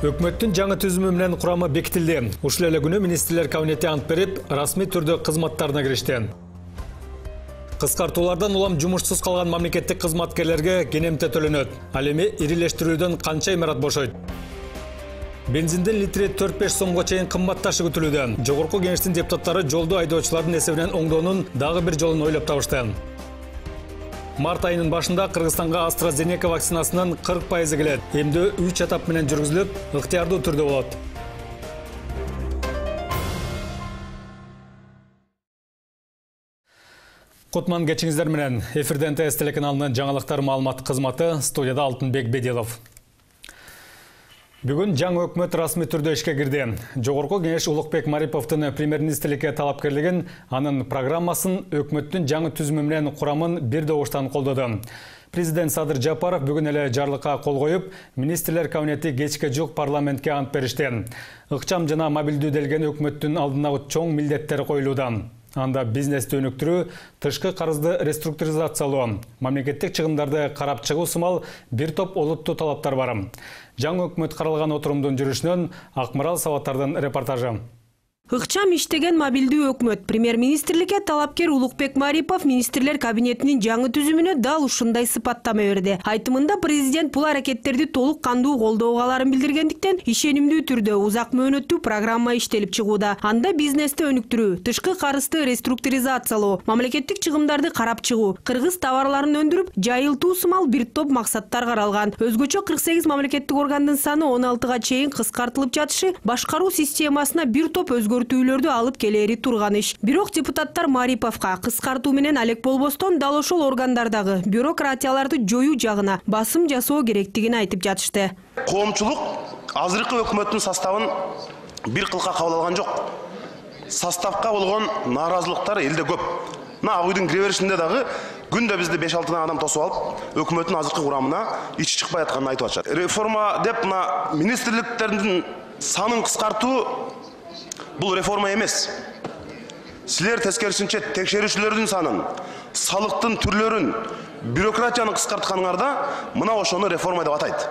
Өкмөттүн жаңы түзүмү менен курамы бекитилди. Ушул эле күнү министрлер кабинети ант берип, расмий түрдө кызматтарына киришти. Кыскартуулардан улам жумушсуз калган мамлекеттик кызматкерлерге кенемте төлөнөт. Ал эми ирилештирүүдөн канча имарат бошойт? Бензиндин литри 4-5 сомго чейин кымбатташы күтүлүүдө. Жогорку кеңештин депутаттары жолду айдоочулардын эсебинен оңдоонун дагы бир жолун ойлоп табышты. Март айынын башында Кыргызстанга AstraZeneca вакцинасынын 40% келет. Эмдөө 3 этап менен жүргүзүлүп, ыктыярдуу түрдө болот. Кутман кечиңиздер менен. Эфирден ТС телеканалынын жаңылыктар маалымат кызматы, студияда Алтынбек Бедилов. Бүгүн жаңы өкмөт расмий түрдө ишке кирди. Жогорку кеңеш Улукбек Мариповдун премьер-министрликке талапкерлигин, анын программасын, өкмөттүн жаңы түзүмү менен курамын бир добуштан колдоду. Президент Садыр Жапаров бүгүн эле жарлыкка кол коюп, министрлер кабинети кечке жук парламентке ант беришти. Ыкчам жана мобилдүүлдөлгөн өкмөттүн алдына чоң милдеттер коюлууда. Анда бизнести өнүктүрүү, тышкы карызды реструктуризациялоо, мамлекеттик чыгымдарды карап чыгуу сымал бир топ олуттуу талаптар бар. Жаңы өкмөт каралган отурумдун жүрүшүнөн Акмарал Сабаттардын репортажы. Ыкчам иштеген мобилдүү өкмөт. Премьер-министрликке талапкер Улукбек Марипов министрлер кабинетинин жаңы түзүмүнө дал ушундай сыпаттама берди. Айтымында президент бул аракеттерди толук кандуу колдоого аларын билдиргендиктен, ишенимдүү түрдө узак мөөнөттүү программа иштелип чыгууда. Анда бизнести өнүктүрүү, тышкы карызды реструктуризациялоо, мамлекеттик чыгымдарды карап чыгуу, кыргыз товарларын өндүрүп, жайылтуу сымал бир топ максаттар каралган. Өзгөчө 48 мамлекеттик органдын саны 16га чейин кыскартылып жатышы, башкаруу системасына бир топ өзгөртүүлөрдү алып келери турган иш. Бирок депутаттар Мариповго кыскартуу менен алек болбостон дал ошол органдардагы бюрократияларды жоюу жагына басым жасоо керектигин айтып жатышты. Коомчулук азыркы өкмөттүн составын бир кылка кабыл алган жок. Составка болгон нааразылыктар элде көп. Ак үйдүн киреберишинде дагы күндө бизди 5-6 адам тосуп алып, өкмөттүн азыркы курамына ичи чыкпай атканын айтып атышат. Реформа деп министрликтердин санын кыскартуу бул реформа эмес. Силер тескерисинче текшерүүчүлөрдүн санын, салыктын түрлөрүн, бюрократияны кыскартканыңарда мына ошону реформа деп атайт.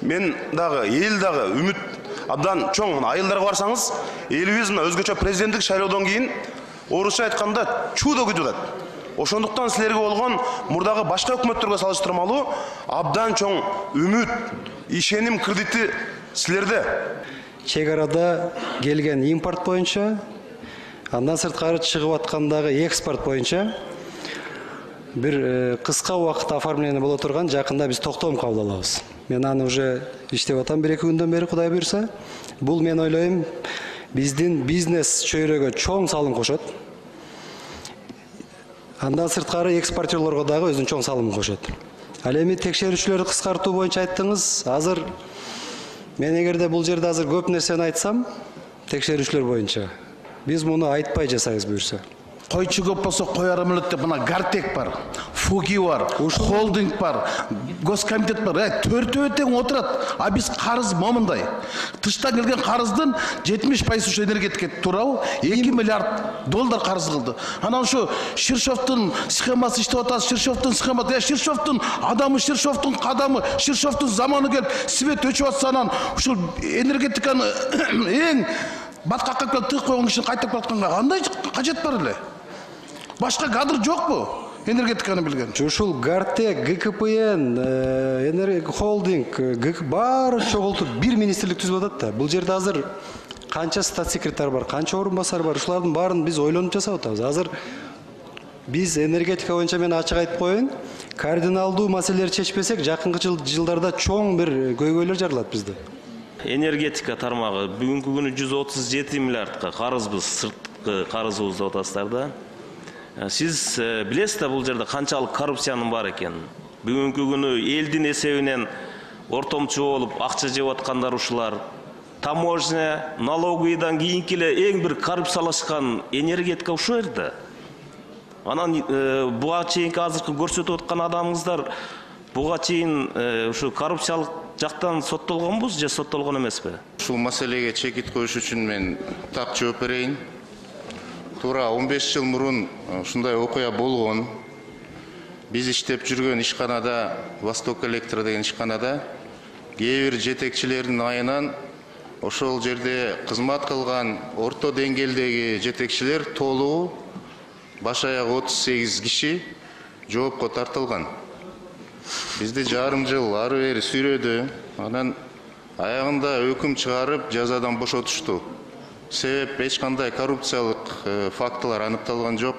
Мен дагы, эл дагы үмүт абдан чоң. Айылдарга барсаңыз, элибиз өзгөчө президенттик шайлоодон кийин орусча айтканда чудо күтүп атат. Ошондуктан силерге болгон мурдагы башка өкмөттөргө салыштырмалуу абдан чоң үмүт, ишеним кредити силерде. Чек арада келген импорт боюнча, андан сырткары чыгып аткандагы экспорт боюнча бир кыска убакыт оформление боло турган жакында биз токтом кабыл алабыз. Мен аны уже иштеп атам 1-2 күндөн бери, Кудай буйрса. Бул мен ойлойм, биздин бизнес чөйрөгө чоң салым кошот. Андан сырткары экспортерлорго дагы өзүнүн чоң салымын кошот. Ал эми текшерүүчүлөрдү кыскартуу боюнча айттыңыз. Азыр мен эгерде бул жерде азыр көп нерсени айтсам, текшерүүчүлөр боюнча, биз муну айтпай жасайбыз буйрса. Койчу көп болсо кояр эмелет деп мына Гартек бар, Фуги бар, холдинг бар, Госкомитет бар. Төртөө тең отурат. А биз карыз момундай. Тыштан келген карыздын 70% ушу энергетикке туурабы? 2 миллиард доллар карыз кылды. Анан ушу Ширшовдун схемасы иштеп атат, Ширшовдун схемасы, Ширшовдун адамы, Ширшовдун кадамы, Ширшовдун заманы келип, свет өчүп атса, анан ушул энергетиканы эң баткакка тыгып койгон кишини кайтып калатканга кандай кажет бар эле? Башка кадр жокпу? Энергетиканы билген. Ушул Гартек, ГКПН, холдинг, баары чогултуп бир министрлик түзүп атат да. Бул жерде азыр канча статс-секретарь бар, канча орун басар бар. Ушулардын баарын биз ойлонуп жасап атабыз. Азыр биз энергетика боюнча мен ачык айтып коеюн, кардиналдуу маселелерди чечпесек, жакынкы жылдарда чоң бир көйгөйлөр жаралат бизде. Энергетика тармагы бүгүнкү күнү 137 миллиардка карызбыз, сырткы карызыбыз деп атасыздар да. Сиз билесиз да бул жерде канчалык коррупциянын бар экенин. Бүгүнкү күнү элдин эсебинен ортомчу болуп акча жеп аткандар ушулар. Таможня, налоговыйдан кийинки эле эң бир коррупциялашкан энергетика ушул жерде. Анан буга чейинки азыркы көрсөтүп аткан адамыңыздар буга чейин ушу коррупциялык жактан соттолгонбуз же соттолгон эмеспи? Ушул маселеге чекит коюш үчүн мен так жооп берейин. Туура 15 жыл мурун ушундай окуя болгон. Биз иштеп жүргөн ишканада, Восток Электро деген ишканада кээ бир жетекчилердин айынан ошол жерде кызмат кылган орто деңгээлдеги жетекчилер толугу баш аяк 38 киши жоопко тартылган. Бизди жарым жыл ары бери сүйрөдү. Анан аягында өкүм чыгарып жазадан бошотушту. Себеп эч кандай коррупциялык фактылар аныкталган жок.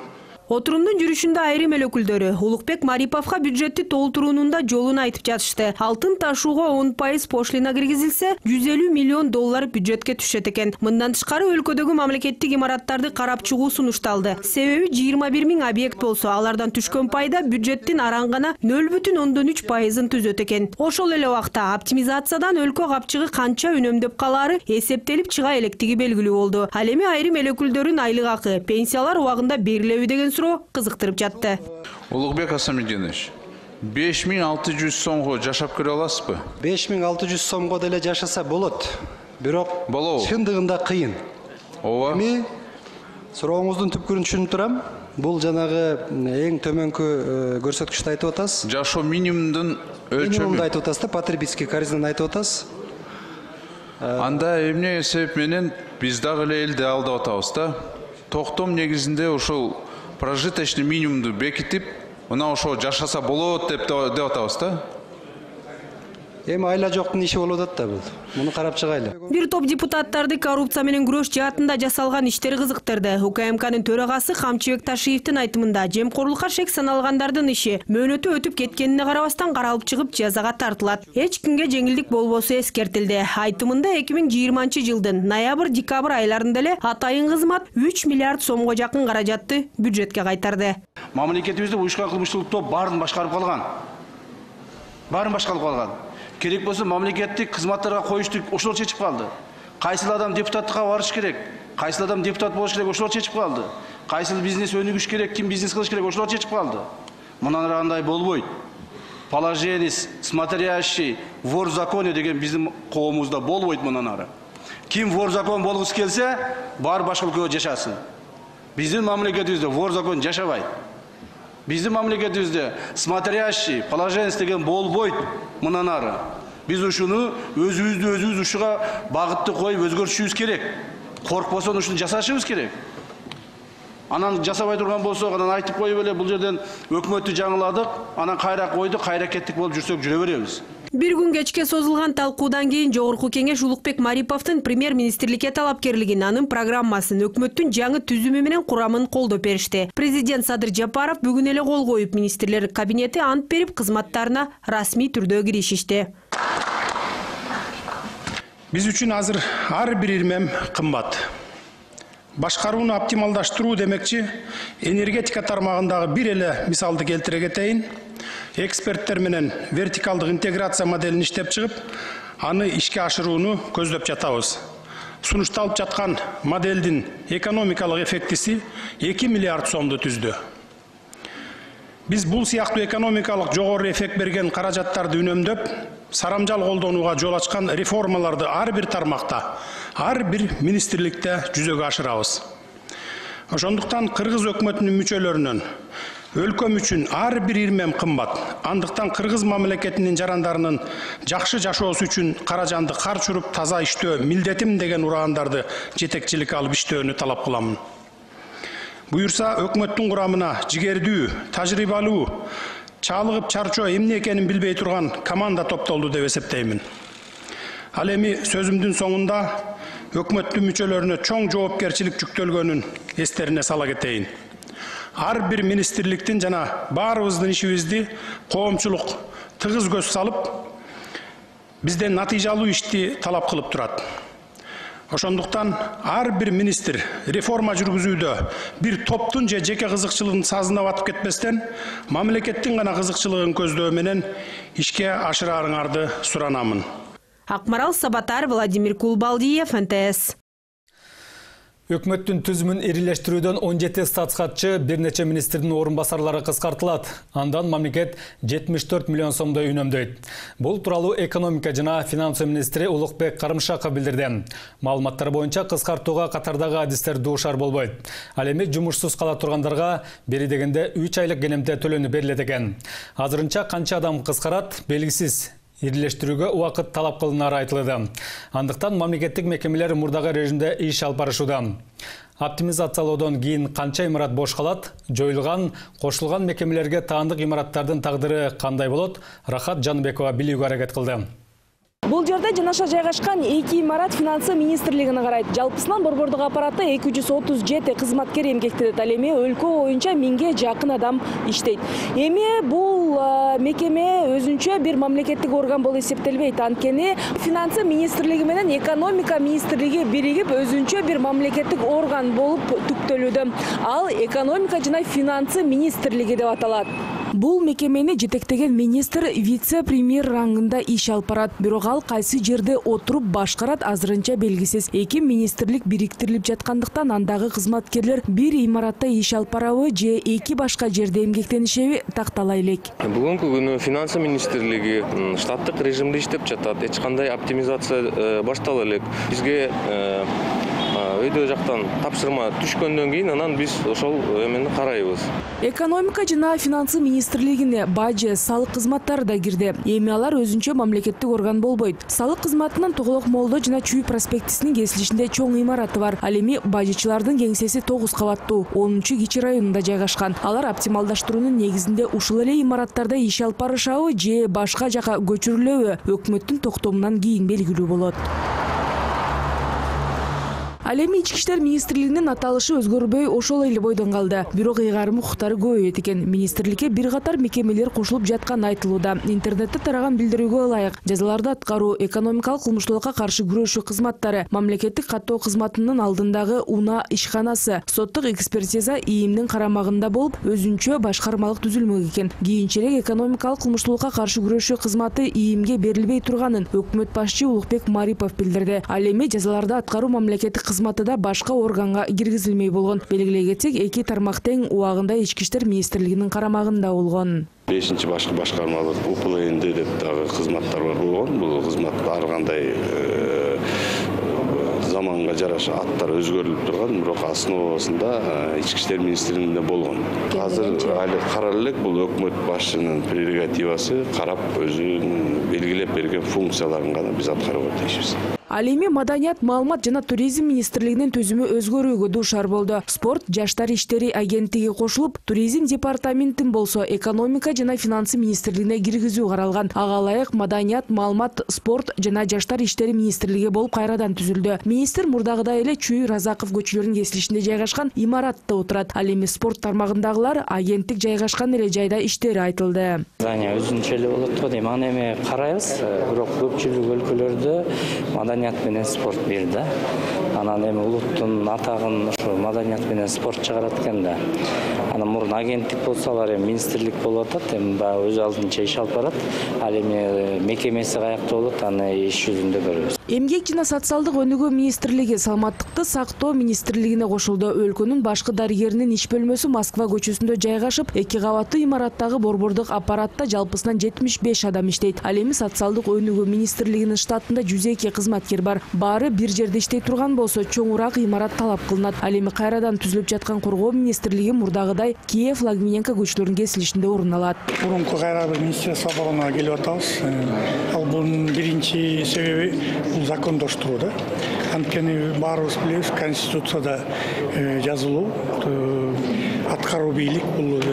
Отурумдун жүрүшүндө айрым эл өкүлдөрү Улукбек Мариповго бюджетти толтуруунун жолун айтып жатышты. Алтын ташууга 10% пошлина киргизилсе, 150 миллион доллар бюджетке түшөт экен. Мындан тышкары өлкөдөгү мамлекеттик имараттарды карап чыгуу сунушталды. Себеби 21 000 объект болсо, алардан түшкөн пайда бюджеттин араң гана 0,3%-ын түзөт экен. Ошол эле убакта оптимизациядан өлкө капчыгы канча үнөмдөп калаары эсептелип чыга электиги белгилүү болду. Ал эми айрым эл өкүлдөрүнүн айлык акы, пенсиялар убагында берилеби деген кызыктырып жатты. Улукбек Асамединович, 5600 сомго жашап көрө аласызбы? 5600 сомго деле жашаса болот. Бирок чындыгында кыйын. Ооба. Эми сурооңуздун түпкүрүн түшүнүп турам. Бул жанагы эң төмөнкү көрсөткүчтү айтып атасыз. Жашоо минимумдун өлчөмү. Минимумду айтып атасыз да, потребительский корзинаны айтып атасыз. Анда эмне себеп менен биз дагы эле элди алдап атабыз да. Токтом негизинде ошол прожиточный минимумду бекитип, мына ошо жашаса болот деп атабыз да. Эми айла жоктун иши болуп атат да бул. Муну карап чыгайлы. Бир топ депутаттарды коррупция менен күрөш жаатында жасалган иштер кызыктырды. УКМКнын төрагасы Камчыбек Ташиевдин айтымында жемкорлукка шек саналгандардын иши мөөнөтү өтүп кеткенине карабастан каралып чыгып жазага тартылат. Эч кимге жеңилдик болбосу эскертилди. Айтымында 2020-жылдын ноябрь-декабрь айларында эле атайын кызмат 3 миллиард сомго жакын каражатты бюджетке кайтарды. Мамлекетибизде уюшкан кылмыштуулук топ баарын башкарып калган. Керек болсо мамлекеттик кызматтарга коюшту ошол чечип калды. Кайсыл адам депутаттыкка барыш керек, кайсыл адам депутат болуш керек, ошол чечип калды. Кайсыл бизнес өнүгүш керек, ким бизнес кылыш керек, ошол чечип калды. Мындан ары андай болбойт. Положение смотрящий вор в законе деген биздин коомубузда болбойт мындан ары. Ким вор в закон болгусу келсе, бар башка өлкөдө жашасын. Биздин мамлекетибизде вор в закон жашабайт. Биздин мамлекетибизде смотрящий положение деген болбойт мындан ары. Биз ушуну өзүбүз ушуга багытты коюп өзгөртүшүбүз керек. Коркпосон ушуну жасашыбыз керек. Анан жасабай турган болсок, анан айтып коюп эле бул жерден өкмөттү жаңыладык, анан кайра койдук, кайра кеттик болуп жүрсөк жүрө беребиз. Бир күн кечке созулган талкуудан кийин Жогорку кеңеш Улукбек Мариповдун премьер-министрликке талапкерлигин, анын программасын, өкмөттүн жаңы түзүмү менен курамын колдоп беришти. Президент Садыр Жапаров бүгүн эле кол коюп, министрлер кабинети ант берип, кызматтарына расмий түрдө киришишти. Биз үчүн азыр ар бир ирмем кымбат. Башкарууну оптималдаштыруу демекчи, энергетика тармагындагы бир эле мисалды келтире кетейин. Эксперттер менен вертикалдык интеграция моделин иштеп чыгып, аны ишке ашырууну көздөп жатабыз. Сунушталып жаткан моделдин экономикалык эффектиси 2 миллиард сомду түздү. Биз бул сыяктуу экономикалык жогору эффект берген каражаттарды үнөмдөп, сарамжал колдонууга жол ачкан реформаларды ар бир тармакта, ар бир министрликте жүзөгө ашырабыз. Ошондуктан кыргыз өкмөтүнүн мүчөлөрүнөн өлкөм үчүн ар бир ирмем кымбат. Андыктан кыргыз мамлекетинин жарандарынын жакшы жашоосу үчүн каражанды кар чуруп таза иштөө милдетим деген урандарды жетекчилик алып иштөөнү талап кыламын. Буюрса, өкмөттүн курамына жигердүү, тажрыйбалуу, чалыгып чарчоо эмне экенин билбей турган команда топтолду деп эсептеймин. Ал эми сөзүмдүн соңунда өкмөттүн мүчөлөрүнө чоң жоопкерчилик жүктөлгөнүн эстерине сала кетейин. Ар бир министрликтин жана баарыбыздын ишибизди коомчулук тыгыз көз салып, бизден натыйжалуу ишти талап кылып турат. Ошондуктан ар бир министр реформа жүргүзүүдө бир топтун же жеке кызыкчылыгын сазына батып кетпестен, мамлекеттин гана кызыкчылыгын көздөө менен ишке ашыраарыңарды суранамын. Акмарал Сабатар, Владимир Кулбалдиев, НТС. Өкмөттүн түзүмүн ирилештирүүдөн 17 статскатчы, бир нече министрдин орун басарлары кыскартылат. Андан мамлекет 74 миллион сомдой үнөмдөйт. Бул тууралуу экономика жана финансы министри Улукбек Карымшаков билдирди. Маалыматтар боюнча кыскартууга катардагы адистер дуушар болбойт. Ал эми жумушсуз кала тургандарга бери дегенде 3 айлык кенемте төлөнүп берилет экен. Азырынча канча адам кыскарат белгисиз. ирилештирүүгө убакыт талап кылынары айтылды. Андыктан мамлекеттик мекемелер мурдагы режимде иш алып барышууда. Оптимизациялоодон кийин канча имарат бош калат, жоюлган, кошулган мекемелерге таандык имараттардын тагдыры кандай болот? Рахат Жаныбекова билүүгө аракет кылды. Бул жерде жанаша жайгашкан 2 имарат финансы министрлигине карайт. Жалпысынан борбордук аппаратта 237 кызматкер эмгектенет. Ал эми өлкө боюнча 1000ге жакын адам иштейт. Эми бул мекеме өзүнчө бир мамлекеттик орган болуп эсептелбейт. Анткени финансы министрлиги менен экономика министрлиги биригип өзүнчө бир мамлекеттик орган болуп түптөлүүдө. Ал экономика жана финансы министрлиги деп аталат. Бул мекемени жетектеген министр вице-премьер рангында иш алып барат. Бирок ал кайсы жерде отуруп башкарат азырынча белгисиз. Эки министрлик бириктирилип жаткандыктан андагы кызматкерлер бир имаратта иш алып барабы же эки башка жерде эмгектенишеби тактала элек. Бүгүнкү күнү финансы министрлиги штаттык режимде иштеп жатат. Эч кандай оптимизация баштала элек. Бизге өйдө жактан тапшырма түшкөндөн кийин анан биз ошол эмени карайбыз. Экономика жана финансы министрлигине бажы, салык кызматтары да кирди. Эми алар өзүнчө мамлекеттик орган болбойт. Салык кызматынын Тоголок молдо жана Чүй проспектисинин кесилишинде чоң имараты бар. Ал эми бажычылардын кеңсеси 9 кабаттуу, 10-кичи районунда жайгашкан. Алар оптималдаштыруунун негизинде ушул эле имараттарда иш алып барышабы же башка жака көчүрүлөбү өкмөттүн токтомунан кийин белгилүү болот. Ал эми Ички иштер министрлигинин аталышы өзгөрбөй ошол эле бойдон калды. Бирок ыйгарым укуктары көбөйөт экен. Министрликке бир катар мекемелер кошулуп жатканы айтылууда. Интернетте тараган билдирүүгө ылайык жазаларды аткаруу, экономикалык кылмыштуулукка каршы күрөшүү кызматтары, мамлекеттик каттоо кызматынын алдындагы УНА ишканасы, соттук экспертиза ИИМдин карамагында болуп, өзүнчө башкармалык түзүлмөк экен. Кийинчерээк экономикалык кылмыштуулукка каршы күрөшүү кызматы ИИМге берилбей турганын өкмөт башчы Улукбек Марипов билдирди. Ал эми жазаларды аткаруу мамлекеттик кызматыда башка органга киргизилмей болгон. Белгилей кетсек, эки тармак тең убагында Ички иштер министрлигинин карамагында болгон. 5-чи башкармалык УПЛНД деп дагы кызматтар бар болгон. Бул кызмат ар кандай заманга жараша аттар өзгөрүлүп турган, бирок основасында Ички иштер министрлигинде болгон. Азыр айлы карар элек, бул өкмөт башчынын прерогативасы, карап өзүнүн белгилеп берген функцияларын гана биз аткарууга тийишбиз. Ал эми Маданият, маалымат жана туризм министрлигинин түзүмү өзгөрүүгө дуушар болду. Спорт, жаштар иштери агенттиги кошулуп, туризм департаментин болсо экономика жана финансы министрлигине киргизүү каралган. Ага ылайык Маданият, маалымат, спорт жана жаштар иштери министрлиги болуп кайрадан түзүлдү. Министр мурдагыдай эле Чүй Разаков көчөлөрүнүн кесилишинде жайгашкан имаратта отурат. Ал эми спорт тармагындагылар агенттик жайгашкан эле жайда иштери айтылды. Здание өзүнчө эле болот го дейм. Аны эми карайбыз. Бирок көпчүлүк өлкөлөрдө маданият менен спорт бир да. Анан эми улуттун атагын ошо маданият менен спорт чыгарат экен да. Анан мурун агенттик болсо алар эми министрлик болуп атат, эми баягы өз алдынча иш алып барат. Ал эми мекемеси каякта болот, аны иш жүзүндө көрөбүз. Эмгек жана социалдык өнүгүү министрлиги саламаттыкты сактоо министрлигине кошулду. Өлкөнүн башкы дарыгеринин иш бөлмөсү Москва көчөсүндө жайгашып, 2 кабаттуу имараттагы борбордук аппаратта жалпысынан 75 адам иштейт. Ал эми социалдык өнүгүү министрлигинин штатында 102 кызматкер бар. Баары бир жерде иштей турган болсо, чоңураак имарат талап кылынат. Ал эми кайрадан түзүлүп жаткан коргоо министрлиги мурдагыдай Киев, Лагмененко көчөлөрүнүн кесилишинде орун алат. Мурунку кайра бир министрлик оборонаға келип атабыз. Ал бунун биринчи себеби бул закондоштуруу да. Анткени баарыбыз билебиз, Конституцияда жазылуу аткаруу бийлик бул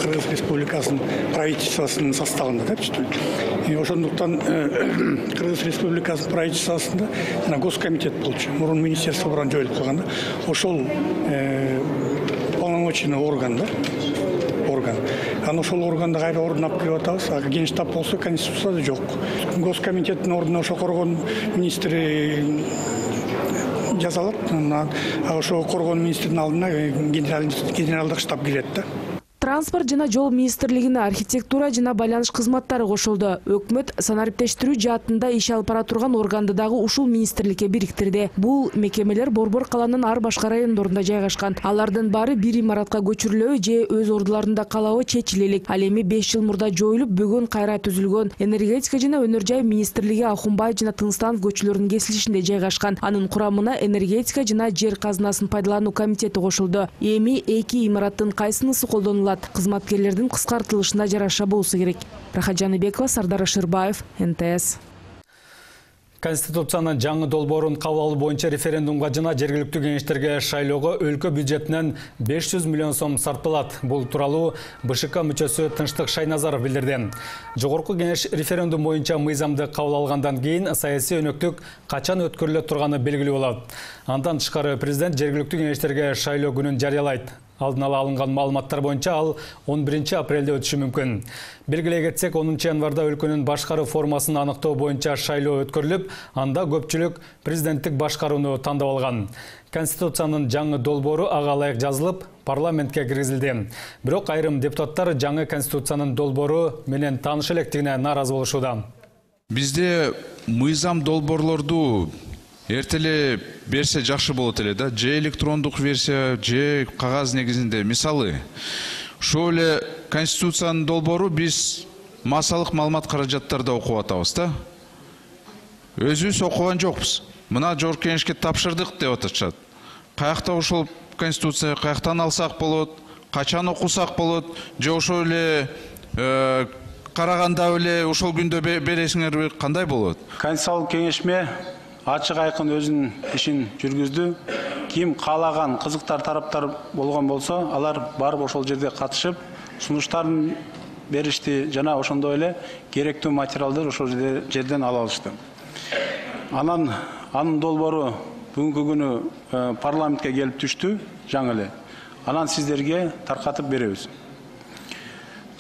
Кыргыз Республикасынын правительствосунун составында депчи. Ошондуктан Кыргыз Республикасынын правительствосунда жана Госкомитет болчу. Мурун министерство обороны жоюлуп калганда, ошол полномочийный орган да. Аны ошол органда кайра ордун алып келип атабыз. Генштаб болсо Конституцияда жок. Госкомитеттин ордуна ошо коргон министри жасалат. Ошо коргон министрдин алдына генералдык штаб кирет да. Транспорт жана жол министрлигине архитектура жана байланыш кызматтары кошулду. Өкмөт санариптештирүү жаатында иш алып бара турган органды дагы ушул министрликке бириктирди. Бул мекемелер борбор каланын ар башка райондорунда жайгашкан. Алардын баары бир имаратка көчүрүлөбү же өз ордуларында калабы чечиле элек. Ал эми 5 жыл мурда жоюлуп, бүгүн кайра түзүлгөн энергетика жана өнөр жай министрлиги Ахунбаев жана Тынстанов көчөлөрүнүн кесилишинде жайгашкан. Анын курамына энергетика жана жер казынасын пайдалануу комитети кошулду. Эми эки имараттын кайсынысы колдонулат кылат. Кызматкерлердин кыскартылышына жараша болсу керек. Рахат Жаныбекова, Сардар Ашырбаев, НТС. Конституциянын жаңы долбоорун кабыл алуу боюнча референдумга жана жергиликтүү кеңештерге шайлоого өлкө бюджетинен 500 миллион сом сарпталат. Бул тууралуу БШК мүчөсү Тынчтык Шайназаров билдирди. Жогорку кеңеш референдум боюнча мыйзамды кабыл алгандан кийин саясий өнөктүк качан өткөрүлө турганы белгилүү болот. Андан тышкары президент жергиликтүү кеңештерге шайлоо күнүн жарыялайт. Алдын ала алынган маалыматтар боюнча ал 11 апрелде өтүшү мүмкүн. Белгилей кетсек, 10 январда өлкөнүн башкаруу формасын аныктоо боюнча шайлоо өткөрүлүп, анда көпчүлүк президенттик башкарууну тандап алган. Конституциянын жаңы долбоору ага ылайык жазылып, парламентке киргизилди. Бирок айрым депутаттар жаңы конституциянын долбоору менен тааныш электигине нааразы болушууда. Бизде мыйзам долбоорлорду эртеле берсе жакшы болот эле да, же электрондук версия, же кагаз негизинде. Мисалы, ошол эле Конституциянын долбоору биз массалык маалымат каражаттарда окуп атабыз да. Өзүбүз окуган жокпуз. Мына жогорку кеңешке тапшырдык деп атышат. Каякта ошол Конституция, каяктан алсак болот, качан окусак болот, же ошол эле караганда эле ошол күндө бересиңерби, кандай болот? Конституциялык кеңешме ачык айкын өзүнүн ишин жүргүздү. Ким каалаган кызыктар тараптар болгон болсо, алар барып ошол жерде катышып, сунуштарын беришти жана ошондой эле керектүү материалдар ошол жерден ала алышты. Анын долбоору бүгүнкү күнү парламентке келип түштү жаңы эле. Анан сиздерге таркатып беребиз.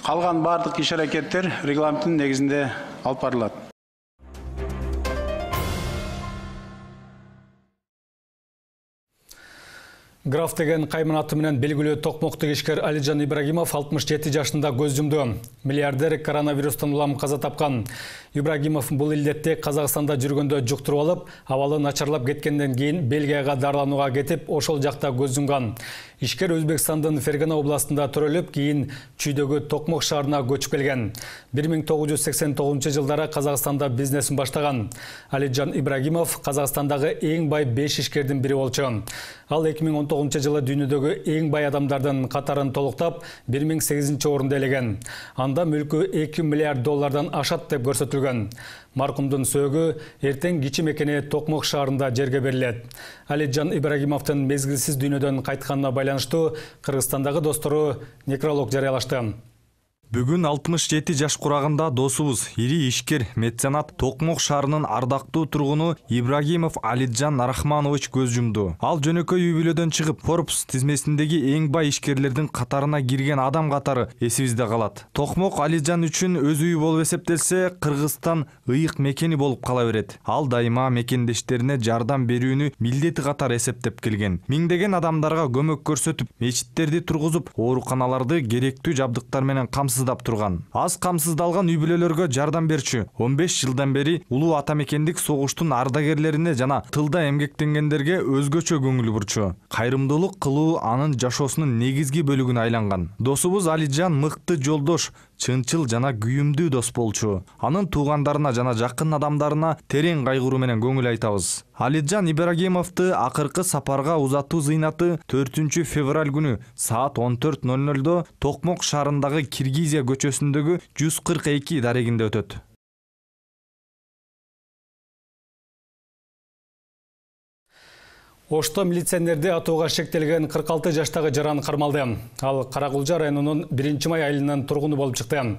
Калган бардык иш-аракеттер регламенттин негизинде алып барылат. Граф деген кайман аты менен белгилүү токмоктук ишкер Алиджан Ибрагимов 67 жашында көз жумду. Миллиардер коронавирустан улам каза тапкан. Ибрагимов бул илдетти Казакстанда жүргөндө жуктуруп алып, абалы начарлап кеткенден кийин Бельгияга дарыланууга кетип, ошол жакта көз жумган. Ишкер Өзбекстандын Фергана областында төрөлүп, кийин Чүйдөгү Токмок шаарына көчүп келген. 1989-жылдары Казакстанда бизнесин баштаган. Алиджан Ибрагимов Казакстандагы эң бай 5 ишкердин бири болчу. Ал 2019-жылы дүйнөдөгү эң бай адамдардын катарын толуктап, 1008-орунду ээлеген. Анда мүлкү 2 миллиард доллардан ашат деп көрсөтүлгөн. Маркумдун сөөгү эртең кичи мекени Токмок шаарында жерге берилет. Алиджан Ибрагимовдун мезгилсиз дүйнөдөн кайтканына байланыштуу Кыргызстандагы достору некролог жарыялашты. Бүгүн 67 жаш курагында досубуз, ири ишкер, меценат Токмок шаарынын ардактуу тургуну Ибрагимов Алиджан Рахманович көз жумду. Ал жөнөкөй үй бүлөдөн чыгып, Forbes тизмесиндеги эң бай ишкерлердин катарына кирген адам катары эсибизде калат. Токмок Алиджан үчүн өз үйү болуп эсептелсе, Кыргызстан ыйык мекени болуп кала берет. Ал дайыма мекендештерине жардам берүүнү милдети катары эсептеп келген. Миңдеген адамдарга көмөк көрсөтүп, мечиттерди тургузуп, ооруканаларды керектүү жабдыктар менен турган. Аз камсыздалган үй бүлөлөргө жардам берчү. 15 жылдан бери улуу ата мекендик согуштун ардагерлерине жана тылда эмгектенгендерге өзгөчө көңүл бурчу. Кайрымдуулук кылуу анын жашоосунун негизги бөлүгүнө айланган. Досубуз Алиджан мыкты жолдош, чынчыл жана күйүмдүү дос болчу. Анын туугандарына жана жакын адамдарына терең кайгыруу менен көңүл айтабыз. Алиджан Ибрагимовду акыркы сапарга узатуу зыйнаты 4 февраль күнү саат 14:00 Токмок шаарындагы Киргизия көчөсүндөгү 142 дарегинде өтөт. Ошто милиционерди атууга шектелген 46 жаштагы жаран кармалды. Ал Каракулжа районунун 1-май айылынын тургуну болуп чыкты.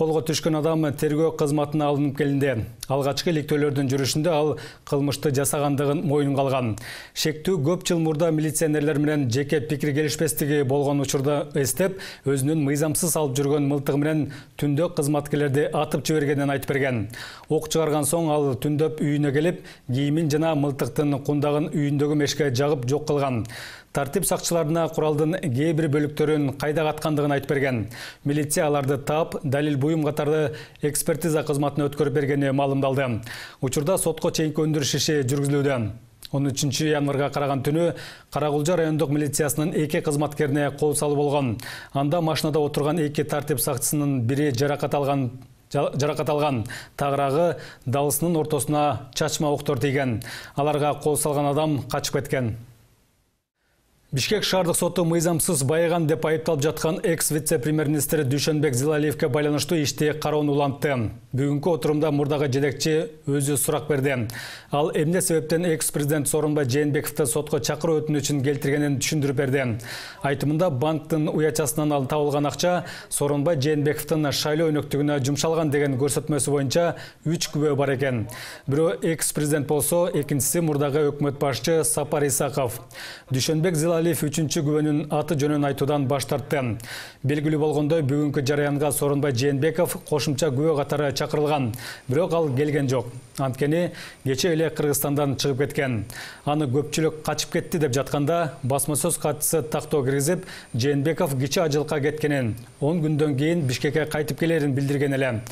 Колго түшкөн адам тергөө кызматына алынып келинди. Алгачкы иликтөөлөрдүн жүрүшүндө ал кылмышты жасагандыгын моюнга алган. Шектүү көп жыл мурда милиционерлер менен жеке пикир келишпестиги болгон учурда эстеп, өзүнүн мыйзамсыз алып жүргөн мылтыгы менен түндө кызматкерлерди атып жибергенин айтып берген. Ок чыгарган соң ал түндөп үйүнө келип, кийимин жана мылтыктын кундагын үйүндөгү мешке жагып жок кылган. Тартип сакчыларына куралдын кээ бир бөлүктөрүн кайда каткандыгын айтып берген. Милиция аларды таап, далил буюм катары экспертиза кызматына өткөрүп бергени маалымдалды. Учурда сотко чейинки өндүрүш иши жүргүзүлүүдө. 13 январга караган түнү Каракулжа райондук милициясынын 2 кызматкерине кол салуу болгон. Анда машинада отурган 2 тартип сакчысынын бири жаракат алган. Тагыраагы далысынын ортосуна чачма октор тийген. Аларга кол салган адам качып кеткен. Бишкек шаардык соту мыйзамсыз байыган деп айыпталып жаткан экс-вице-премьер-министр Дүйшөнбек Зилалиевке байланыштуу ишти кароону улантты. Бүгүнкү отурумда мурдагы жетекчи өзү сурак берди. Ал эмне себептен экс-президент Сооронбай Жээнбековду сотко чакыруу өтүнүчүн келтиргенин түшүндүрүп берди. Айтымында банктын уячасынан табылган акча Сооронбай Жээнбековдун шайлоо өнөктүгүнө жумшалган деген көрсөтмөсү боюнча 3 күбө бар экен. Бирөө экс-президент болсо, экинчиси мурдагы өкмөт башчы Сапар Исаков. Дүйшөнбек Зилалиев үчүнчү күбөнүн аты жөнүн айтуудан баш тартты. Белгилүү болгондой, бүгүнкү жараянга Сооронбай Жээнбеков кошумча күбө катары чакырылган, бирок ал келген жок. Анткени кече эле Кыргызстандан чыгып кеткен. Аны көпчүлүк качып кетти деп жатканда, басма сөз катчысы тактоо киргизип, Жээнбеков кичи ажылка кеткенин, 10 күндөн кийин Бишкекке кайтып келерин билдирген эле.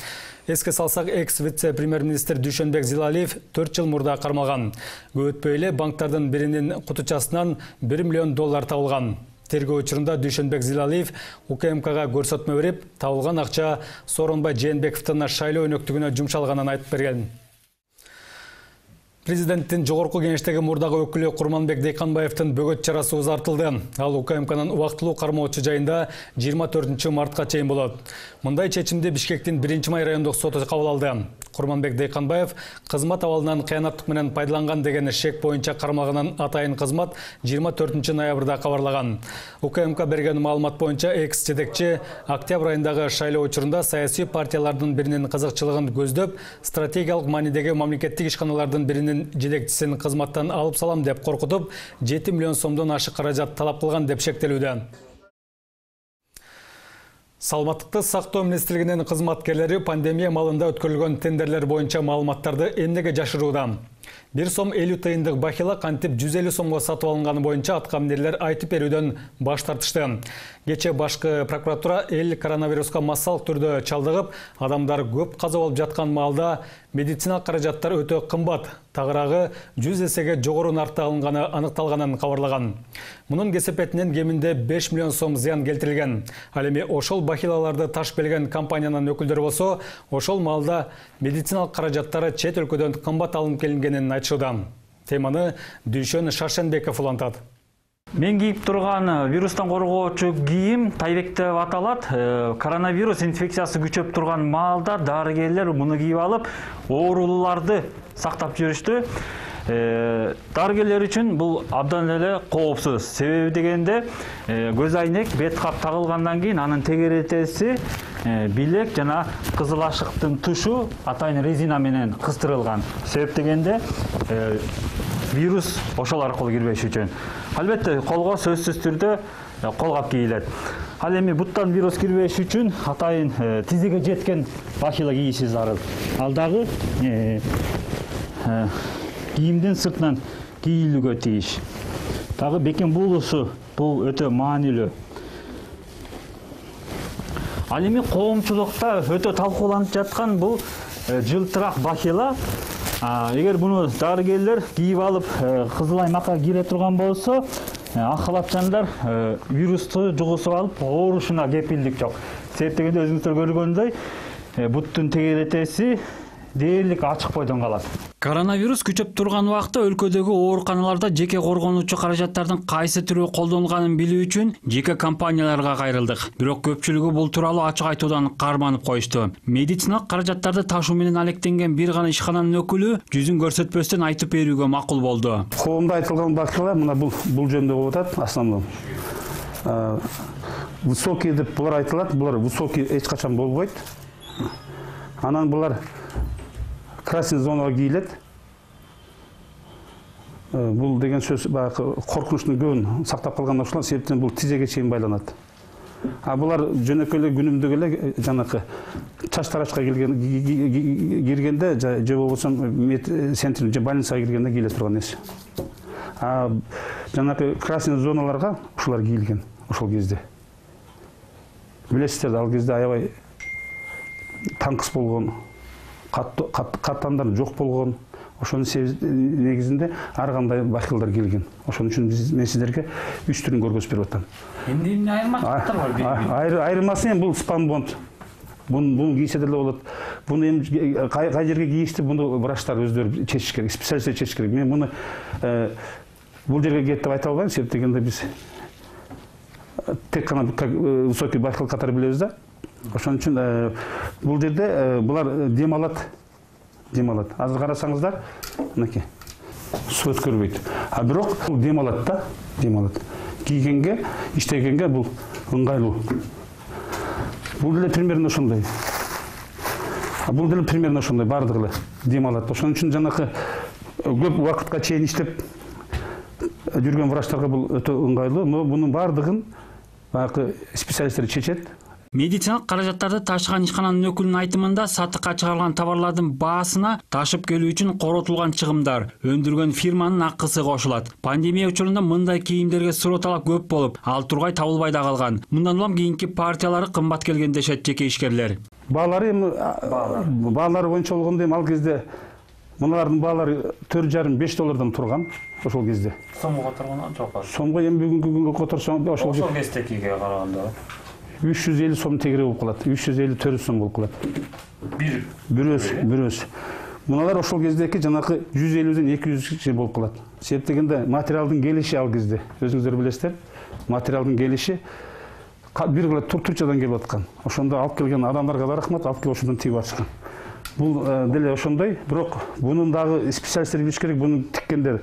Эске салсак, экс-вице-премьер-министр Дүйшөнбек Зилалиев 4 жыл мурда кармалган. Көп өтпөй эле банктардын биринин кутучасынан $1 миллион табылган. Тергөө учурунда Дүйшөнбек Зилалиев УКМКга көрсөтмө берип, табылган акча Сооронбай Жээнбековдун шайлоо өнөктүгүнө жумшалганын айтып берген. Президенттин жогорку кеңештеги мурдагы өкүлү Курманбек Дейканбаевдин бөгөт чарасы узартылды. Ал УКМКнын убактылуу кармоочу жайында 24 мартка чейин болот. Мындай чечимди Бишкектин 1-май райондук соту кабыл алды. Курманбек Дейканбаев кызмат абалынан кыянаттык менен пайдаланган деген шек боюнча кармалганын атайын кызмат 24 ноябрда кабарлаган. УКМК берген маалымат боюнча экс-жетекчи октябрь айындагы шайлоо учурунда саясий партиялардын биринин кызыкчылыгын көздөп, стратегиялык маанидеги мамлекеттик ишканалардын биринин жетекчисин кызматтан алып салам деп коркутуп, 7 миллион сомдон ашык каражат талап кылган деп шектелүүдө. Саламаттыкты сактоо министрлигинин кызматкерлери пандемия малында өткөрүлгөн тендерлер боюнча маалыматтарды эмнеге жашырууда? 1 сом 50 тыйындык бахила кантип 150 сомго сатып алынганы боюнча аткаминерлер айтып берүүдөн баш тартышты. Кече башкы прокуратура эл коронавируска массалык түрдө чалдыгып, адамдар көп каза болуп жаткан маалда медициналык каражаттар өтө кымбат, тагыраагы 100 эсеге жогору наркта алынганы аныкталганын кабарлаган. Мунун кесепетинен кеминде 5 миллион сом зыян келтирилген. Ал эми ошол бахилаларды таш белген компаниянын өкүлдөрү болсо, ошол маалда медициналык каражаттары чет өлкөдөн кымбат алынып келингенин айтышууда. Теманы Дүйшөн Шаршенбеков улантат. Мен кийип турган вирустан коргоочу кийим тайбек деп аталат. Коронавирус инфекциясы күчөп турган маалда дарыгерлер муну кийип алып, оорулууларды сактап жүрүштү. Дарыгерлер үчүн бул абдан эле коопсуз. Себеби дегенде көз айнек, бет кап тагылгандан кийин анын тегеретеси билек жана кызыл ашыктын тушу атайын резина менен кыстырылган. Себеп дегенде вирус ошол аркылуу кирбеш үчүн. Албетте колго сөзсүз түрдө колгап кийилет. Ал эми буттан вирус кирбеш үчүн атайын тизеге жеткен бахила кийиши зарыл. Ал дагы кийимдин сыртынан кийилүүгө тийиш. Дагы бекен буулуусу бул өтө маанилүү. Ал эми коомчулукта өтө талкууланып жаткан бул жылтырак бахила. Эгер буну дарыгерлер кийип алып кызыл аймакка кире турган болсо, ак халатчандар вирусту жугусуп алып оорушуна кепилдик жок. Себеп дегенде өзүңүздөр көргөндөй, буттун тегеретеси дээрлик ачык бойдон калат. Коронавирус күчөп турган убакта өлкөдөгү ооруканаларда жеке коргонуучу каражаттардын кайсы түрү колдонулганын билүү үчүн жеке компанияларга кайрылдык. Бирок көпчүлүгү бул тууралуу ачык айтуудан карманып коюшту. Медициналык каражаттарды ташуу менен алектенген бир гана ишкананын өкүлү жүзүн көрсөтпөстөн айтып берүүгө макул болду. Коомдо айтылган бакылар мына бул жөнүндө болуп атат основном. Высокий деп булар айтылат, булар высокий эч качан болбойт. Анан булар красный зонага кийилет. Бул деген сөз коркунучтун көбүн сактап калган ошол себептен бул тизеге чейин байланат. Булар жөнөкөй эле күнүмдүк эле жанакы чач тарачка киргенде же болбосо медцентр же больницага киргенде кийиле турган нерсе. Жанакы красный зоналарга ушулар кийилген ошол кезде. Билесиздер, ал кезде аябай таңкыс болгон, каттандар жок болгон. Ошонун негизинде ар кандай бахилдар келген. Ошон үчүн мен сиздерге 3 түрүн көргөзүп берип атам. Эмне айырмачылыктар бар? Айырмасы бул спанбонд. Буну кийсе деле болот. Буну эми кай жерге кийишти, буну врачтар өздөрү чечиш керек, специалисттер чечиш керек. Мен буну бул жерге кет деп айта албайм, себеп дегенде биз тек гана высокий Байкал катары билебиз да. Ошон үчүн бул жерде булар дем алат. Азыр карасаңыздар, мынакей суу өткөрбөйт. А бирок дем алат да, кийгенге, иштегенге бул ыңгайлуу. Бул деле примерно ошондой. Бардыгы эле дем алат. Ошон үчүн жанакы көп убакытка чейин иштеп жүргөн врачтарга бул өтө ыңгайлуу, но бунун бардыгын баягы специалисттер чечет. Медициналык каражаттарды ташыган ишкананын өкүлүнүн айтымында сатыкка чыгарылган товарлардын баасына ташып келүү үчүн коротулган чыгымдар, өндүргөн фирманын акысы кошулат. Пандемия учурунда мындай кийимдерге суроо талап көп болуп, ал тургай табылбай да калган. Мындан улам кийинки партиялары кымбат келген дешет жеке ишкерлер. Баалары боюнча болгондо ал кезде муналардын баалары $4,5-5 турган ошол кезде. Сомго которгон жок. Сомго эми бүгүнкү күнгө которсоң ошол кездегиге караганда 350 сом тегере болуп калат. 350-400 сом болуп калат. Бир өз. Муналар ошол кездеки жанакы 150ден 200 болуп калат. Себеп дегенде материалдын келиши ал кезде. Өзүңүздөр билесиздер. Материалдын келиши бир кылы Туркиядан келип аткан. Ошондо алып келген адамдарга да рахмат, алып келип ошондон тигип атышкан. Бул деле ошондой, бирок бунун дагы специалисттер билиш керек, буну тиккендер.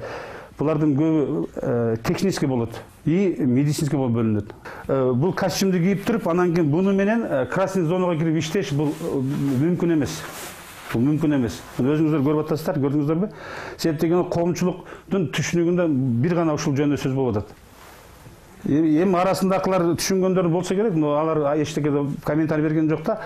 Булардын көбү технический болот и медицинский болуп бөлүнөт. Бул костюмду кийип туруп, анан кийин буну менен красный зонага кирип иштеш бул мүмкүн эмес. Өзүңүздөр көрүп атасыздар, көрдүңүздөрбү? Себеп дегенде коомчулуктун түшүнүгүндө бир гана ушул жөнүндө сөз болуп атат. Эми арасындагылар түшүнгөндөр болсо керек, но алар эчтеке комментарий берген жок да.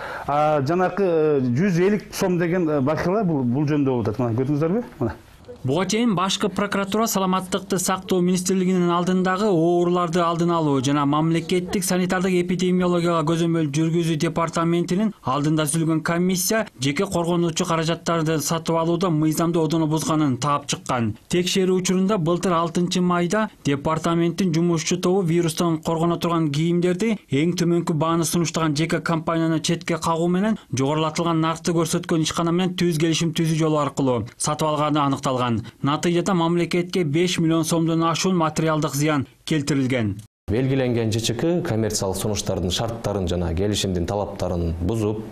Жанакы 150 сом деген бакыла бул жөнүндө болуп атат. Мына көрдүңүздөрбү? Мына. Буга чейин башкы прокуратура саламаттыкты сактоо министрлигинин алдындагы ооруларды алдын алуу жана мамлекеттик санитардык эпидемиологияга көзөмөл жүргүзүү департаментинин алдында түзүлгөн комиссия жеке коргонуучу каражаттарды сатып алууда мыйзамдуу одону бузганын таап чыккан. Текшерүү учурунда былтыр 6-майда департаменттин жумушчу тобу вирустан коргоно турган кийимдерди эң төмөнкү бааны сунуштаган жеке компанияны четке кагуу менен жогорулатылган наркты көрсөткөн ишкана менен түз келишим түзүү жолу аркылуу сатып алганы аныкталган. Натыйжада мамлекетке 5 миллион сомдон ашуун материалдык зыян келтирилген. Белгиленген ЖЧК коммерциялык сунуштардын шарттарын жана келишимдин талаптарын бузуп,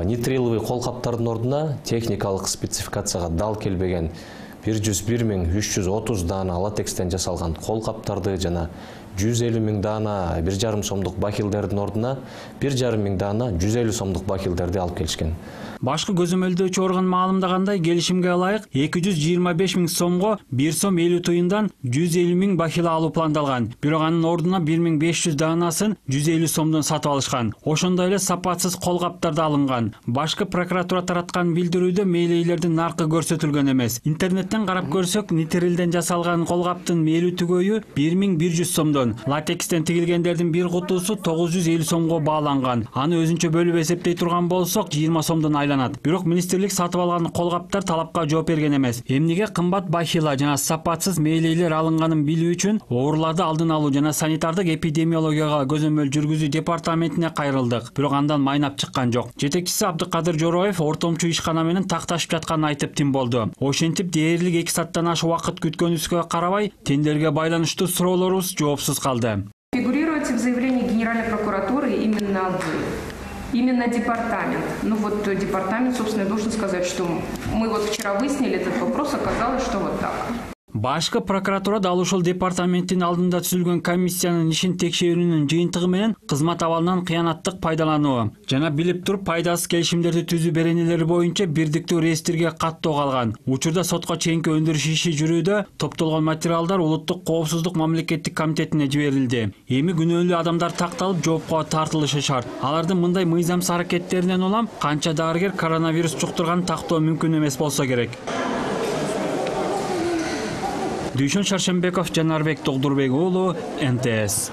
нитриловый колкаптардын ордуна техникалык спецификацияга дал келбеген 101.330 даана латекстен жасалган колкаптарды жана 150.000 даана 1,5 сомдук бахилдердин ордуна 1,5 даана 150 сомдук бахилдерди алып келишкен. Башкы көзөмөлдөөчү орган маалымдагандай келишимге ылайык 225.000 сомго 1 сом 50 тыйындан 150.000 бахила алуу пландалган. Бирок анын ордуна 1.500 даанасын 150 сомдон сатып алышкан. Ошондой эле сапатсыз колгаптар да алынган. Башкы прокуратура тараткан билдирүүдө мээлейлердин наркы көрсөтүлгөн эмес. Интернеттен карап көрсөк, нитрилден жасалган колгаптын мээлүү түгөйү 1.100 сомдон, латекстен тигилгендердин бир кутусу 950 сомго бааланган. Аны өзүнчө бөлүп эсептей турган болсок 20 сомдон айланат. Бирок министрлик сатып алган колгаптар талапка жооп берген эмес. Эмнеге кымбат бахила жана сапатсыз мээлейлер алынганын билүү үчүн ооруларды алдын алуу жана санитардык эпидемиологияга көзөмөл жүргүзүү департаментине кайрылдык. Бирок андан майнап чыккан жок. Жетекчиси Абдыкадыр Жороев ортомчу ишкана менен такташып жатканын айтып тим болду. Ошентип дээрлик 2 сааттан ашык убакыт күткөнүбүзгө карабай, тендерге байланыштуу суроолорубуз жоопсуз калды. Фигурируете в заявлении Генеральной прокуратуры именно вы. Именно департамент. Ну вот департамент, собственно, должен сказать, что мы вот вчера выяснили этот вопрос, оказалось, что вот так. Башкы прокуратура дал ушул департаменттин алдында түзүлгөн комиссиянын ишин текшерүүнүн жыйынтыгы менен кызмат абалынан кыянаттык пайдалануу жана билип туруп пайдасыз келишимдерди түзүү беренелери боюнча бирдиктүү реестрге каттоо калган. Учурда сотко чейинки өндүрүш иши жүрүүдө, топтолгон материалдар Улуттук коопсуздук мамлекеттик комитетине жиберилди. Эми күнөөлүү адамдар такталып жоопко тартылышы шарт. Алардын мындай мыйзамсыз аракеттеринен улам канча дарыгер коронавирус жуктурганын тактоо мүмкүн эмес болсо керек. Дүйшөн Шаршембеков, Жанарбек Тогдурбек уулу, НТС.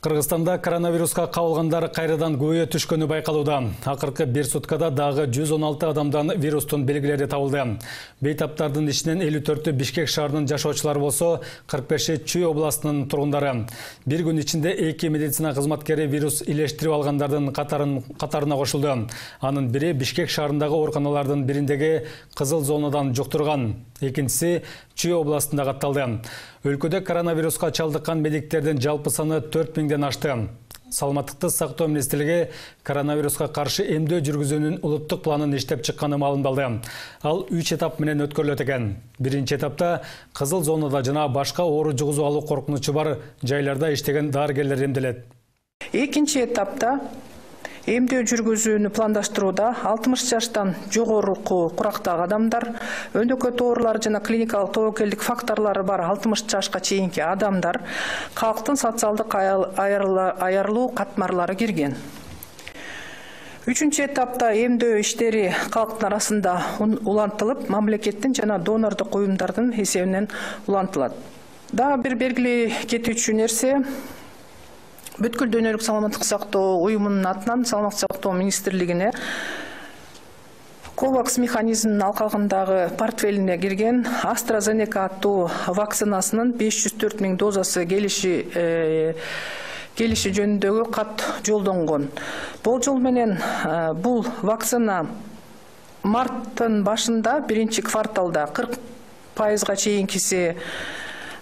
Кыргызстанда коронавируска кабылгандар кайрадан көбөйө түшкөнү байкалууда. Акыркы бир суткада дагы 116 адамдан вирустун белгилери табылды. Бейтаптардын ичинен 54-тү Бишкек шаарынын жашоочулары болсо, 45-и Чүй областынын тургундары. Бир күн ичинде 2 медицина кызматкери вирус илештирип алгандардын катарына кошулду. Анын бири Бишкек шаарындагы ооруканалардын бириндеги кызыл зонадан жуктурган. Экинчиси Чүй областында катталды. Өлкөдө коронавируска чалдыккан медиктердин жалпы саны 4000ден ашты. Саламаттыкты сактоо министрлиги коронавируска каршы эмдөө жүргүзүүнүн улуттук планын иштеп чыкканы маалымдалды. Ал 3 этап менен өткөрүлөт экен. Биринчи этапта кызыл зонада жана башка оору жугузуп алуу коркунучу бар жайларда иштеген дарыгерлер эмделет. Экинчи этапта эмдөө жүргүзүүнү пландаштырууда 60 жаштан жогорку курактагы адамдар, өнөкөт оорулар жана клиникалык тобокелдик факторлору бар 60 жашка чейинки адамдар, калктын социалдык аярлуу катмарлары кирген. Үчүнчү этапта эмдөө иштери калктын арасында улантылып, мамлекеттин жана донордук уюмдардын эсебинен улантылат. Дагы бир белгилей кетүүчү нерсе, бүткүл дүйнөлүк саламаттык сактоо уюмунун атынан Саламаттык сактоо министрлигине COVAX механизминин алкагындагы портфелине кирген AstraZeneca аттуу вакцинасынын 504 000 дозасы келиши жөнүндөгү кат жолдонгон. Болжол менен бул вакцина марттын башында биринчи кварталда 40%га чейинкиси,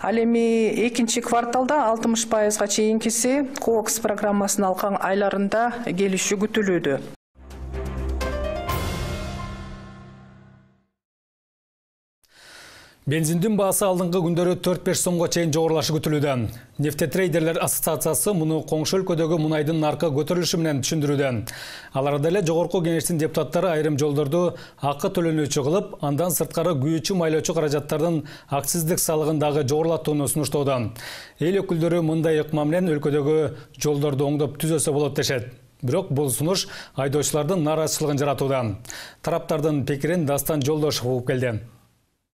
ал эми экинчи кварталда 60%га чейинкиси COVAX программасынын алкан айларында келиши күтүлүүдө. Бензиндин баасы алдыңкы күндөрү 4-5 сомго чейин жогорулашы күтүлүүдө. Нефтетрейдерлер ассоциациясы муну коңшу өлкөдөгү мунайдын наркы көтөрүлүшү менен түшүндүрүүдө. Ал арада эле жогорку кеңештин депутаттары айрым жолдорду акы төлөнүүчү кылып, андан сырткары күйүүчү майлоочу каражаттардын акциздик салыгын дагы жогорулатууну сунуштоодо. Эл өкүлдөрү мындай ыкма менен өлкөдөгү жолдорду оңдоп түзөсө болот дешет. Бирок бул сунуш айдоочулардын нааразычылыгын жаратууда. Тараптардын пикирин Дастан Жолдошов угуп келди.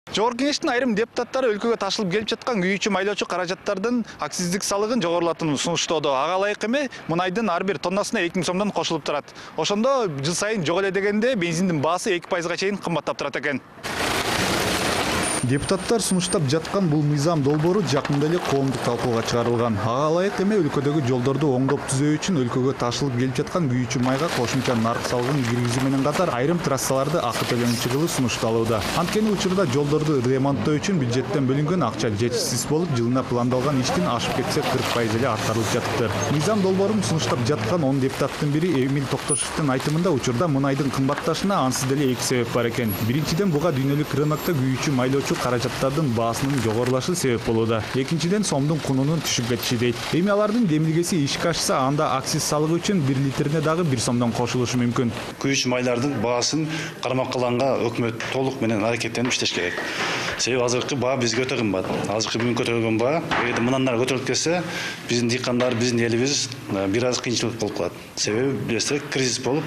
Жогорку кеңештин айрым депутаттары өлкөгө ташылып келип жаткан күйүүчү майлоочу каражаттардын акциздик салыгын жогорулатууну сунуштоодо. Ага ылайык эме мунайдын ар бир тоннасына 2000 сомдон кошулуп турат. Ошондо жыл сайын жок эле дегенде бензиндин баасы 2%га чейин кымбаттап турат экен. Депутаттар сунуштап жаткан бул мыйзам долбоору жакында эле коомдук талкууга чыгарылган. Ага ылайык эме өлкөдөгү жолдорду оңдоп түзөө үчүн өлкөгө ташылып келип жаткан күйүүчү майга кошумча нарк салыгын киргизүү менен катар айрым трассаларды акы төлөнүүчү кылуу сунушталууда. Анткени учурда жолдорду ремонттоо үчүн бюджеттен бөлүнгөн акча жетишсиз болуп, жылына пландалган иштин ашып кетсе 40% эле аткарылып жатыптыр. Мыйзам долбоорун сунуштап жаткан 10 депутаттын бири Эмил Токтошевдин айтымында учурда мунайдын кымбатташына ансыз деле 2 себеп бар экен. Биринчиден, буга дүйнөлүк рынокто күйүүчү майлоочу каражаттардын баасынын жогорулашы себеп болууда. Экинчиден, сомдун кунунун түшүп кетиши дейт. Эми алардын демилгеси ишке ашса, анда акциз салыгы үчүн 1 литрине дагы 1 сомдон кошулушу мүмкүн. Күйүүчү майлардын баасын кармаккалганга өкмөт толук менен аракеттенип иштеш керек. Себеби азыркы баа бизге өтө кымбат. Азыркы бүгүн көтөрүлгөн баа, эгерде мындан нары көтөрүлүп кетсе, биздин дыйкандар, биздин элибиз бир аз кыйынчылык болуп калат. Себеби билесиздер, кризис болуп,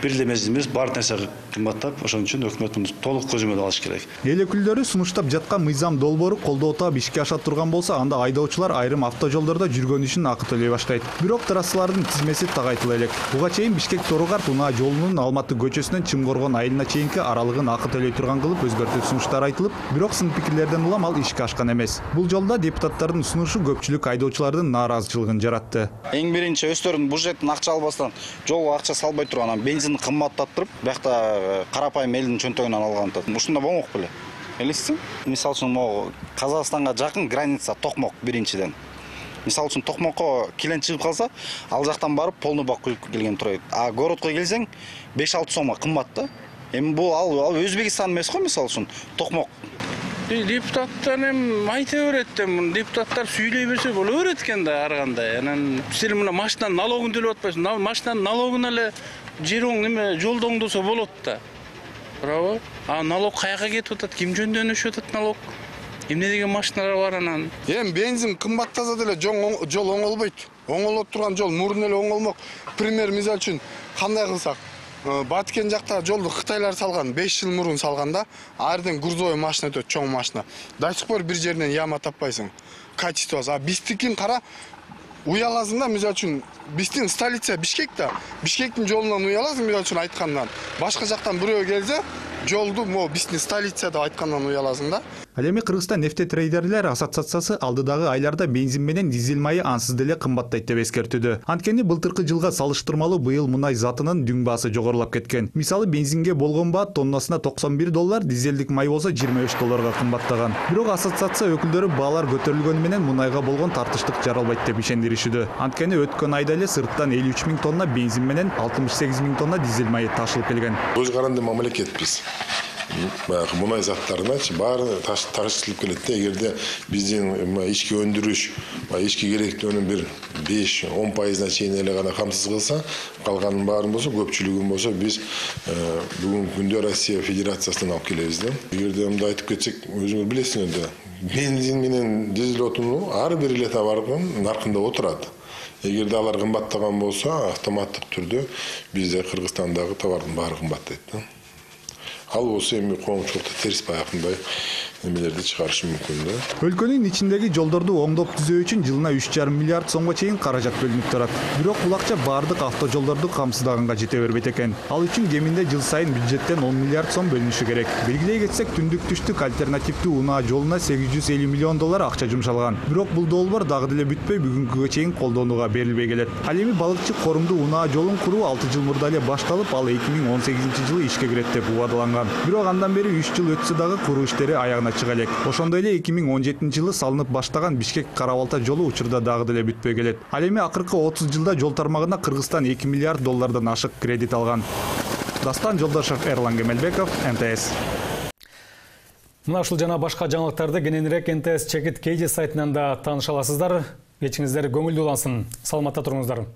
бир эле мезгилде эмес, баардык нерсе кымбаттап, ошон үчүн өкмөт муну толук көзөмөл алыш керек. Эл өкүлдөрү сунуштап жаткан мыйзам долбоору колдоо таап ишке аша турган болсо, анда айдоочулар айрым автожолдордо жүргөн үчүн акы төлөй баштайт. Бирок трассалардын тизмеси тагайтыла элек. Буга чейин Бишкек-Торугарт унаа жолунун Алматы көчөсүнөн Чымкоргон айылына чейинки аралыгын акы төлөй турган кылып өзгөртүү сунуштар айтылып, бирок сын пикирлерден улам ал ишке ашкан эмес. Бул жолда депутаттардын сунушу көпчүлүк айдоочулардын нааразычылыгын жаратты. Эң биринчи өздөрүнүн бюджеттин акча албастан жолго акча салбай туруп, анан бензин кымбаттаттырып, биякта карапайым элдин чөнтөгүнөн алган. Ушунда болмок беле? Элестиң? Мисалы үчүн могу Казакстанга жакын граница Токмок биринчиден. Мисалы үчүн Токмокко килен чыгып калса, ал жактан барып полный бак куюп келген турат. А городко келсең 5-6 сомго кымбат да. Эми бул ал Өзбекстан эмес го, мисалы үчүн Токмок. Депутаттар эми айта берет да, депутаттар сүйлөй берсе боло берет экен да ар кандай. Анан силер мына машинанын налогун төлөп атпайсыңар. Машинанын налогун эле жер неме жолду оңдосо болот да. Браво. А налог каяка кетип атат? Ким жөндөшүп атат налог? Эмне деген машиналар бар анан? Эми бензин кымбаттаса деле жол оңолбойт. Оңолоп турган жол мурун эле оңолмок. Пример мисал үчүн кандай кылсак? Баткен жакта жолду Кытайлар салган, 5 жыл мурун салганда, арден грузовой машина өтөт, чоң машина. До сих пор бир жеринен яма таппайсың. Качествосы. А биздикин кара уяласың да, мисалы үчүн биздин столица Бишкек да. Бишкектин жолунан уяласың, мисалы үчүн айткандан. Башка жактан бирөө келсе, жолду могу биздин столица деп айткандан уяласың да. Ал эми Кыргызстан нефтетрейдерлер ассоциациясы алдыдагы айларда бензин менен дизель майы ансыз деле кымбаттайт деп эскертүүдө. Анткени былтыркы жылга салыштырмалуу быйыл мунай затынын дүң баасы жогорулап кеткен. Мисалы бензинге болгон баа тоннасына $91, дизелдик май болсо $25 кымбаттаган. Бирок ассоциация өкүлдөрү баалар көтөрүлгөнү менен мунайга болгон тартыштык жаралбайт деп ишендиришүүдө. Анткени өткөн айда эле сырттан 53 000 тонна бензин менен 68 000 тонна дизель майы ташылып келген. Көз каранды мамлекетпиз. Мунай заттарыначы баары ташылып келет да. Эгерде биздин ички өндүрүш, ички керектүү өнүм бир 5-10% чейин эле гана камсыз кылса, калганын баарын болсо, көпчүлүгүн болсо биз бүгүнкү күндө Россия Федерациясынан алып келебиз да. Эгерде мындай айтып кетсек, өзүңөр билесиңер да. Бензин менен дизель отуну ар бир эле товардын наркында отурат. Эгерде алар кымбаттаган болсо, автоматтык түрдө бизде Кыргызстандагы товардын баары кымбаттайт да. Ал болсо эми коомчулукта терс баягындай немелерди чыгарышы мүмкүн да. Өлкөнүн ичиндеги жолдорду оңдоп түзөө үчүн жылына 3,5 миллиард сомго чейин каражат бөлүнүп турат. Бирок бул акча бардык автожолдорду камсыздаганга жете бербейт экен. Ал үчүн кеминде жыл сайын бюджеттен 10 миллиард сом бөлүнүшү керек. Белгилей кетсек, түндүк-түштүк альтернативдүү унаа жолуна $850 миллион акча жумшалган. Бирок бул долбоор дагы деле бүтпөй бүгүнкүгө чейин колдонууга берилбей келет. Ал эми балыкчы корумдуу унаа жолун куруу 6 жыл мурда эле башталып, ал 2018-жылы ишке кирет деп убадаланган. Бирок андан бери 3 жыл өтсө дагы куруу иштери аягына чыга элек. Ошондой эле 2017-жылы салынып баштаган Бишкек-Кара-Балта жолу учурда дагы деле бүтпөй келет. Ал эми акыркы 30 жылда жол тармагына Кыргызстан $2 миллиард ашык кредит алган. Дастан Жолдошев, Эрлан Кемелбеков, НТС. Мына ушул жана башка жаңылыктарды кененирээк НТС Чекит KG сайтынан да тааныша аласыздар. Кечиңиздер көңүлдүү улансын. Саламатта туруңуздар.